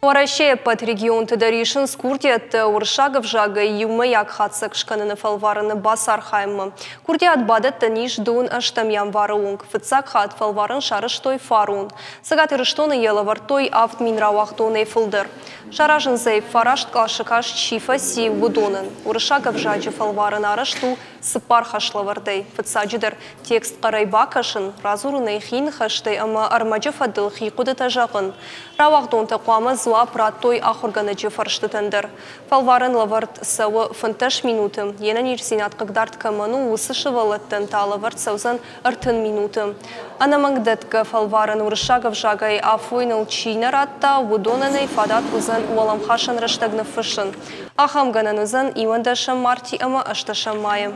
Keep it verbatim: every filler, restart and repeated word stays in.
Уӕрӕсейы ӕппӕт регионты дӕр исынц курдиӕттӕ уырыссаг ӕвзагӕй иумӕйаг хатдзӕг скӕныны фӕлварӕны бацархайынмӕ. Курдиат бадӕттӕн ис дыууын ӕстӕм январы онг. Фыццаг хатт фӕлварӕн сарӕзтой фарон. Цӕгат Ирыстоны йӕ лӕвӕрдтой авд мин рауагъдонӕй фылдӕр. Саразынц ӕй, фараст къласы каст чи фӕци, уыдонӕн. Уырыссаг ӕвзаджы фӕлварӕн арӕзт у цыппар хӕслӕвӕрдӕй. Фыццаджыдӕр, текст хъӕрӕй бакӕсын, радзурын ӕй хи ныхӕстӕй ӕмӕ ӕрмӕджы фӕдыл хи хъуыдытӕ зӕгъын. Рауагъдонтӕ хъуамӕ дзуапп радтой ахуыргӕнӕджы фӕрстытӕн дӕр. Фӕлварӕн лӕвӕрд цӕуы фынддӕс минуты. Йе нӕниздзинад хъыгдард кӕмӕн у, уыцы сывӕллӕттӕн та лӕвӕрд цӕудзӕн ӕртын минуты. Ӕнӕмӕнгдӕтгӕ фӕлварӕн уырыссаг ӕвзагӕй афойныл чи нӕ радта, уыдонӕн ӕй фадат уыдзӕн уӕлӕмхасӕн рӕстӕг ныффыссын. Ахӕм гӕнӕн уыдзӕн иуӕндӕсӕм марти ӕмӕ ӕстдӕсӕм майы.